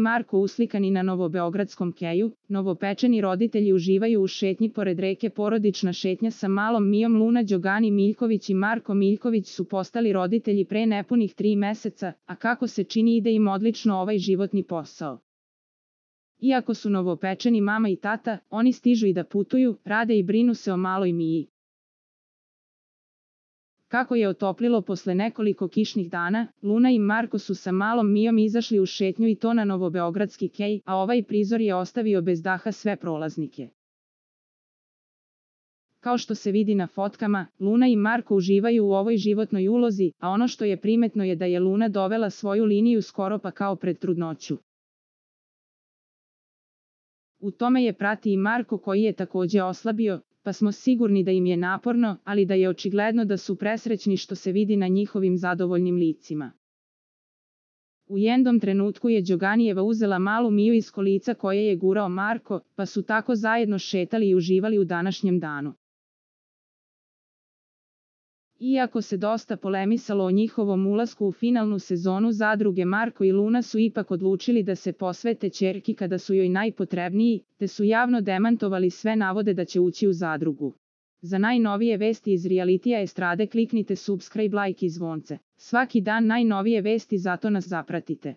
Marko uslikani na novobeogradskom keju, novopečeni roditelji uživaju u šetnji pored reke. Porodična šetnja sa malom Mijom. Luna Đogani Miljković i Marko Miljković su postali roditelji pre nepunih 3 meseca, a kako se čini ide im odlično ovaj životni posao. Iako su novopečeni mama i tata, oni stižu i da putuju, rade i brinu se o maloj Miji. Kako je otoplilo posle nekoliko kišnih dana, Luna i Marko su sa malom Mijom izašli u šetnju i to na novobeogradski kej, a ovaj prizor je ostavio bez daha sve prolaznike. Kao što se vidi na fotkama, Luna i Marko uživaju u ovoj životnoj ulozi, a ono što je primetno je da je Luna dovela svoju liniju skoro pa kao pred trudnoću. U tome je prati i Marko koji je takođe oslabio, pa smo sigurni da im je naporno, ali da je očigledno da su presrećni što se vidi na njihovim zadovoljnim licima. U jednom trenutku je Đoganijeva uzela malu Miju iz kolica koje je gurao Marko, pa su tako zajedno šetali i uživali u današnjem danu. Iako se dosta polemisalo o njihovom ulasku u finalnu sezonu zadruge, Marko i Luna su ipak odlučili da se posvete ćerki kada su joj najpotrebniji, te su javno demantovali sve navode da će ući u zadrugu. Za najnovije vesti iz realitija estrade kliknite subscribe, like i zvonce. Svaki dan najnovije vesti, zato nas zapratite.